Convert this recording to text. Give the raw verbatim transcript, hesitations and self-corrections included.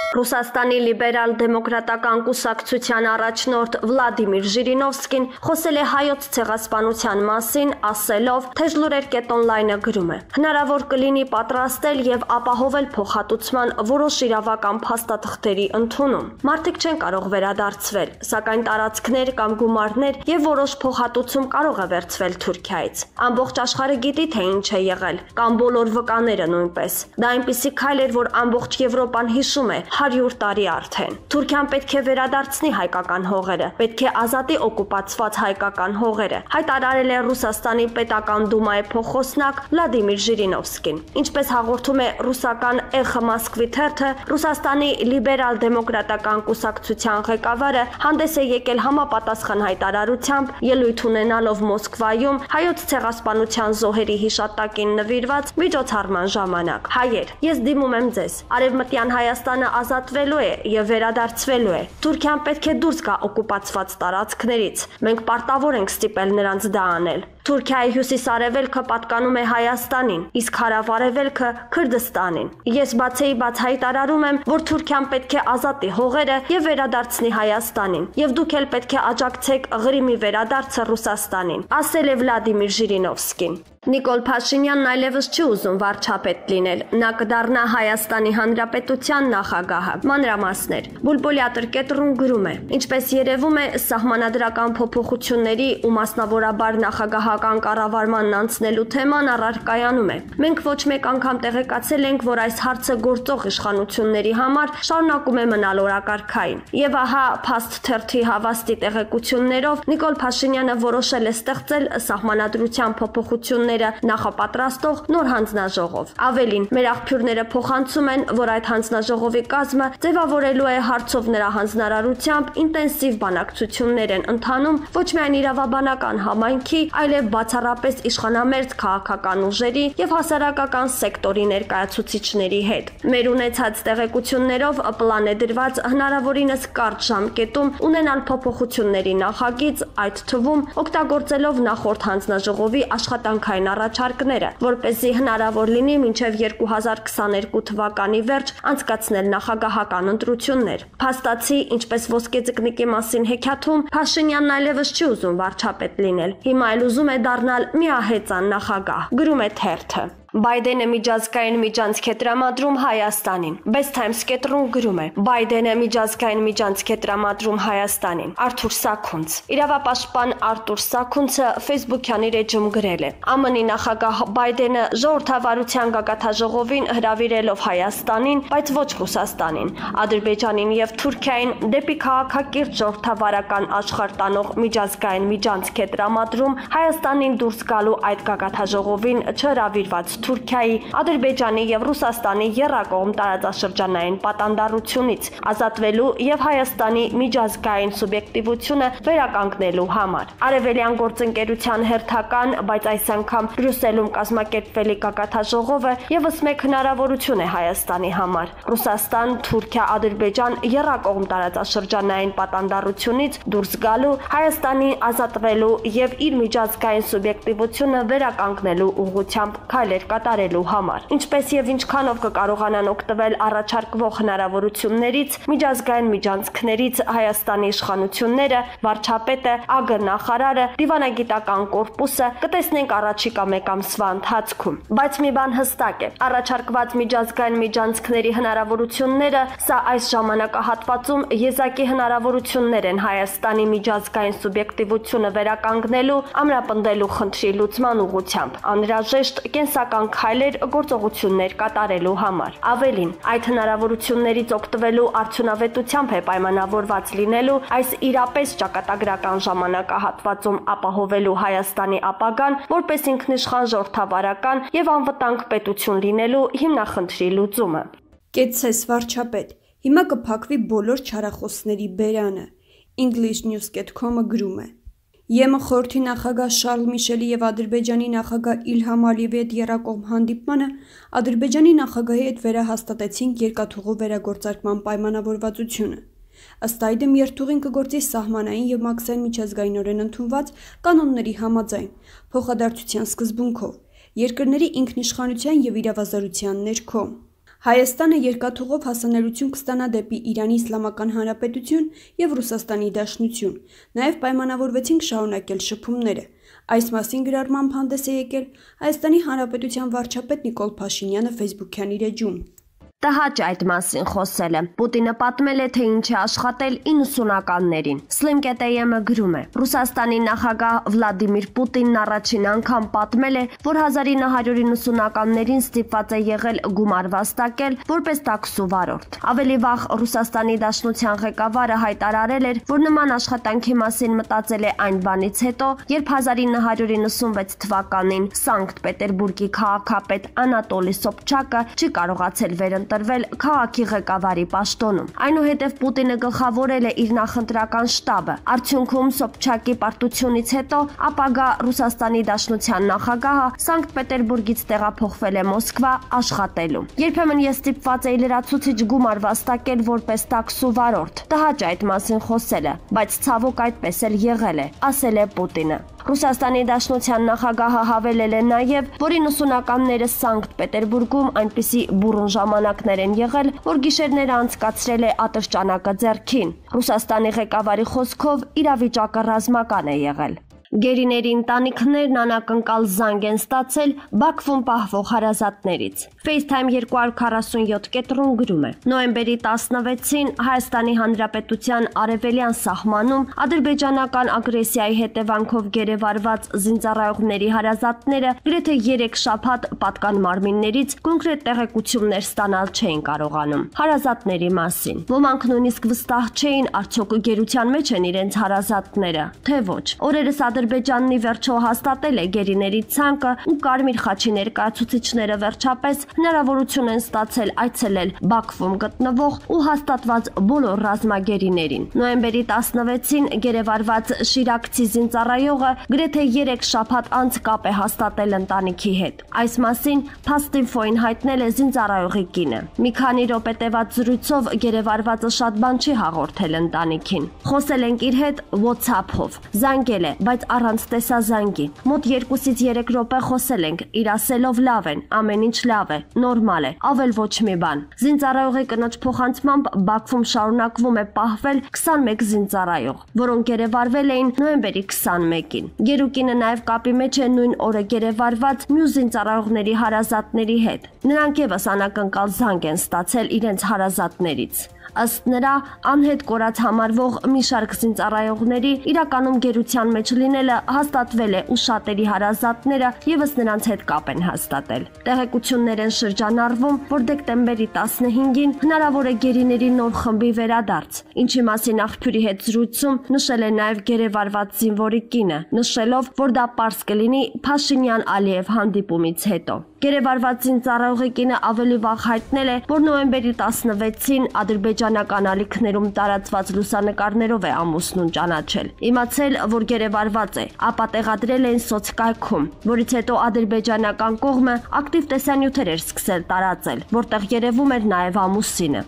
Ռուսաստանի լիբերալ դեմոկրատական կուսակցության առաջնորդ Վլադիմիր Ժիրինովսկին խոսել է հայոց ցեղասպանության մասին, ասելով, թե Ժլուրեր կետ օնլայնը գրում է. հնարավոր կլինի պատրաստել եւ ապահովել փոխհատուցման որոշ իրավական փաստաթղթերի ընդունում։ Մարդիկ չեն կարող վերադարձվել, սակայն տարածքներ կամ գումարներ եւ որոշ փոխհատուցում կարող է վերցվել Թուրքիայից։ Ամբողջ աշխարհը գիտի, թե ինչ է եղել, կամ բոլոր վկաները նույնպես։ Դա այնպիսի քայլ էր, որ ամբողջ Եվրոպան հիշում է հարյուր տարի արդեն։ Թուրքիան պետք է վերադարձնի հայկական հողերը, պետք է ազատի օկուպացված հայկական հողերը, հայտարարել է Ռուսաստանի պետական դումայի փոխոսնակ Վլադիմիր Ժիրինովսկին։ Ինչպես հաղորդում է ռուսական Էխո Մոսկվի թերթը, Ռուսաստանի լիբերալ դեմոկրատական կուսակցության ղեկավարը հանդես է եկել համապատասխան հայտարարությամբ, ելույթ ունենալով Մոսկվայում հայոց ցեղասպանության զոհերի հիշատակին նվիրված միջոցառման ժամանակ։ Հայեր, ես դիմում եմ ձեզ, Արևմտյան Հայաստանը ազատվելու է եւ վերադարձվելու է։ Թուրքիան պետք է դուրս գա օկուպացված տարածքներից։ Մենք պարտավոր ենք ստիպել նրանց դա անել։ Թուրքիայի հյուսիս-արևելքը պատկանում է Հայաստանին, իսկ հարավ-արևելքը Քրդստանին։ Ես բացեի բաց հայտարարում եմ, որ Թուրքիան պետք է ազատի հողերը եւ վերադարձնի Հայաստանին, եւ դուք էլ պետք է աջակցեք Ղրիմի վերադարձը Ռուսաստանին, ասել է Վլադիմիր Ժիրինովսկին։ Նիկոլ Փաշինյանն այլևս չի ուզում վարչապետ լինել։ Նա կդառնա Հայաստանի Հանրապետության նախագահը։ Մանրամասներ։ Բուլբուլյա տրկետրուն գրում է. Ինչպես երևում է, սահմանադրական փոփոխությունների ու մասնավորաբար նախագահական կառավարման անցնելու թեման առարկայանում է։ Մենք ոչ մեկ անգամ տեղեկացել ենք, որ այս հարցը գործող իշխանությունների համար շարունակում է մնալ օրակարգային։ Եվ ահա Փաստ թերթի հավաստի տեղեկություններով Նիկոլ Փաշինյանը որոշել է ստեղծել սահմանադրության փոփոխություններ նախապատրաստող նոր հանձնաժողով։ Ավելին, մեր աղբյուրները փոխանցում են, որ այդ հանձնաժողովի կազմը ձևավորելու է հարցով նրա հանձնարարությամբ ինտենսիվ բանակցություններ են ընթանում ոչ միայն իրավաբանական համայնքի, այլև բացառապես իշխանամերձ քաղաքական ուժերի եւ հասարակական սեկտորի ներկայացուցիչների հետ։ Մեր ունեցած տեղեկություններով պլան է դրված հնարավորինս կարճ ժամկետում ունենալ փոփոխությունների նախագիծ, այդ թվում օգտագործելով նախորդ հանձնաժողովի աշխատանքային առաջարկները, որպեսզի հնարավոր լինի մինչև երկու հազար քսաներկու թվականի վերջ անցկացնել նախագահական ընտրություններ։ Փաստացի, ինչպես ոսկե ձկնիկի մասին հեքիաթում, Փաշինյանն այլևս չի ուզում վարչապետ լինել։ Հիմա էլ ուզում է դառնալ միահեծան նախագահ, գրում է թերթը։ Բայդենը միջազգային միջանցք է տրամադրում Հայաստանին։ Best Times կետրուն գրում է. Բայդենը միջազգային միջանցք է տրամադրում Հայաստանին։ Արթուր Սաքունց։ Իրավապաշտպան Արթուր Սաքունցը Facebook-յան իր էջում գրել է. ԱՄՆ-ի նախագահ Բայդենը ժողովրդավարության գագաթնաժողովին հրավիրելով Հայաստանին, բայց ոչ Ռուսաստանին, Ադրբեջանին եւ Թուրքիային դեպի քաղաքակիրթ ժողովրդավարական աշխարհ տանող միջազգային միջանցք է տրամադրում Հայաստանին դուրս գալու այդ գագաթնաժողովին չհրավիրված Թուրքիայի, Ադրբեջանի եւ Ռուսաստանի եռակողմ տարածաշրջանային պատանդառությունից ազատվելու եւ Հայաստանի միջազգային սուբյեկտիվությունը վերականգնելու համար։ Արևելյան գործընկերության հերթական, բայց այս անգամ Բրյուսելում կազմակերպվելի գագաթնաժողովը եւս մեկ հնարավորություն է Հայաստանի համար։ Ռուսաստան, Թուրքիա, Ադրբեջան եռակողմ տարածաշրջանային պատանդառությունից դուրս գալու, Հայաստանի ազատվելու եւ իր միջազգային սուբյեկտիվությունը վերականգնելու ուղղությամբ քայլեր կատարելու համար։ Ինչպես եւ ինչքանով կկարողանան օգտվել առաջարկվող հնարավորություններից, միջազգային միջանցքներից Հայաստանի իշխանությունները, վարչապետը, ԱԳ նախարարը, դիվանագիտական կորպուսը կտեսնենք առաջիկա մեկ ամսվա ընթացքում։ Բայց մի բան հստակ է, առաջարկված միջազգային միջանցքների հնարավորությունները սա այս ժամանակահատվածում եզակի հնարավորություններ են Հայաստանի միջազգային սուբյեկտիվությունը վերականգնելու, ամրապնդելու խնդրի լուծման ուղղությամբ, անհրաժեշտ կենսական քայլեր գործողություններ կատարելու համար։ Ավելին, այդ հնարավորություններից օգտվելու արդյունավետությամբ է պայմանավորված լինելու այս իրապես ճակատագրական ժամանակահատվածում ապահովելու Հայաստանի ապագան, որպես ինքնիշխան ժողովրդավարական եւ անվտանգ պետություն լինելու հիմնախնդրի լուծումը։ Կեցցես վարչապետ, հիմա կփակվի բոլոր չարախոսների բերանը։ English News dot com-ը գրում է. ԵՄ խորհրդի նախագահ Շարլ Միշելի եւ Ադրբեջանի նախագահ Իլհամ Ալիևի հետ եռակողմ հանդիպմանը Ադրբեջանի նախագահի հետ վերահաստատեցին երկաթուղու վերագործարկման պայմանավորվածությունը։ Ըստ այդմ երթուղին կգործի սահմանային եւ մաքսային միջազգայինորեն ընդունված կանոնների համաձայն, փոխադարձության սկզբունքով, երկրների ինքնիշխանության եւ իրավազորության ներքո։ Հայաստանը երկաթուղով հասանելիություն կստանա դեպի Իրանի Իսլամական Հանրապետություն եւ Ռուսաստանի Դաշնություն։ Նաեւ պայմանավորվեցինք շարունակել շփումները։ Այս մասին գրառմամբ հանդես է եկել Հայաստանի Հանրապետության վարչապետ Նիկոլ Փաշինյանը Facebook-յան իր էջում։ Տհաճ այդ մասին խոսել է։ Պուտինը պատմել է, թե ինչ է աշխատել իննսունականներին։ Slimket.am-ը գրում է. Ռուսաստանի նախագահ Վլադիմիր Պուտինն առաջին անգամ պատմել է, որ հազար ինը հարյուր իննսունականներին ստիպված է եղել գումար վաստակել որպես տաքսու վարորդ։ Ավելի վաղ Ռուսաստանի Դաշնության ղեկավարը հայտարարել էր, որ նման աշխատանքի մասին մտածել է այն բանից հետո, երբ հազար ինը հարյուր իննսունվեց թվականին Սանկտ Պետերբուրգի քաղաքապետ Անատոլի Սոբչակը չի կարողացել վերընտրել տրվել քաղաքի ղեկավարի պաշտոնում։ Այնուհետև Պուտինը գլխավորել է իր նախընտրական շտաբը։ Արդյունքում Սոբչակի պարտությունից հետո ապագա Ռուսաստանի Դաշնության նախագահը Սանկտ Պետերբուրգից տեղափոխվել է Մոսկվա աշխատելու։ Երբեմն ես ստիպված էի լրացուցիչ գումար վաստակել որպես տաքսու վարորդ։ Տհաճ այդ մասին խոսելը, բայց ցավոք այդպես էլ եղել է, ասել է Պուտինը։ Ռուսաստանի Դաշնության նախագահը հավելել է նաև, որ իննսունականները Սանկտ Պետերբուրգում այնպիսի բուռն ժամանակներ են եղել, որ գիշերները անցկացրել է ատրճանակը ձեռքին։ Ռուսաստանի ղեկավարի խոսքով իրավիճակը ռազմական է եղել։ Գերիների ընտանիքներն անակնկալ զանգ են ստացել Բաքվում պահվող հարազատներից։ FaceTime երկու հարյուր քառասունյոթ կետրոն գրում է. Նոյեմբերի տասնվեցին Հայաստանի Հանրապետության արևելյան սահմանում ադրբեջանական ագրեսիայի հետևանքով գերեվարված զինծառայողների հարազատները գրեթե երեք շաբաթ պատկան մարմիններից կոնկրետ տեղեկություններ ստանալ չէին կարողանում։ Հարազատների մասին։ Ոմանք նույնիսկ վստահ չէին, արդյոք գերության մեջ են իրենց հարազատները, թե ոչ։ Օրերս Ադրբեջանն ի վերջո հաստատել է գերիների ցանկը ու Կարմիր խաչի ներկայացուցիչները վերջապես հնարավորություն են ստացել այցելել Բաքվում գտնվող ու հաստատված բոլոր ռազմագերիներին։ Նոյեմբերի տասնվեցին գերեվարված շիրակցի զինծառայողը գրեթե երեք շաբաթ անց կապ է հաստատել ընտանիքի հետ։ Այս մասին Փաստինֆոին հայտնել է զինծառայողի կինը։ Մի քանի րոպե տևած զրույցով գերեվարվածը շատ բան չի հաղորդել ընտանիքին։ Խոսել ենք իր հետ WhatsApp-ով։ Զանգել է, բայց առանց տեսազանգի։ Մոտ երկուսից երեք րոպե խոսել ենք, իր ասելով լավ են, ամեն ինչ լավ է, նորմալ է, ավել ոչ մի բան։ Զինծառայողի կնոջ փոխանցմամբ Բաքվում շարունակվում է պահվել քսանմեկ զինծառայող, որոնք գերեվարվել էին նոյեմբերի քսանմեկին։ Գերուկինը նաև կապի մեջ է նույն օրը գերեվարված մյուս զինծառայողների հարազատների հետ։ Նրանք եւս անակնկալ զանգ են ստացել իրենց հարազատներից։ Ըստ նրա, անհետ կորած համարվող մի շարք զինծառայողների իրականում գերության մեջ լինելը հաստատվել է ու շատերի հարազատները եւս նրանց հետ կապ են հաստատել։ Տեղեկություններ են շրջանառվում, որ դեկտեմբերի տասնհինգին հնարավոր է գերիների նոր խմբի վերադարձ, ինչի մասին աղբյուրի հետ զրույցում նշել է նաև գերեվարված զինվորի կինը, նշելով, որ դա պարզ կլինի Փաշինյան-Ալիև հանդիպումից հետո։ Գերեվարված զինծառայողի կինը ավելի վաղ հայտնել է, որ նոյեմբերի տասնվեցին ադրբեջանական ալիքներում տարածված լուսանկարներով է ամուսնուն ճանաչել։ Իմացել, որ գերեվարված է, ապա տեղադրել էին սոցկայքում, որից հետո ադրբեջանական կողմը ակտիվ տեսանյութեր էր սկսել տարածել, որտեղ երևում էր նաև ամուսինը։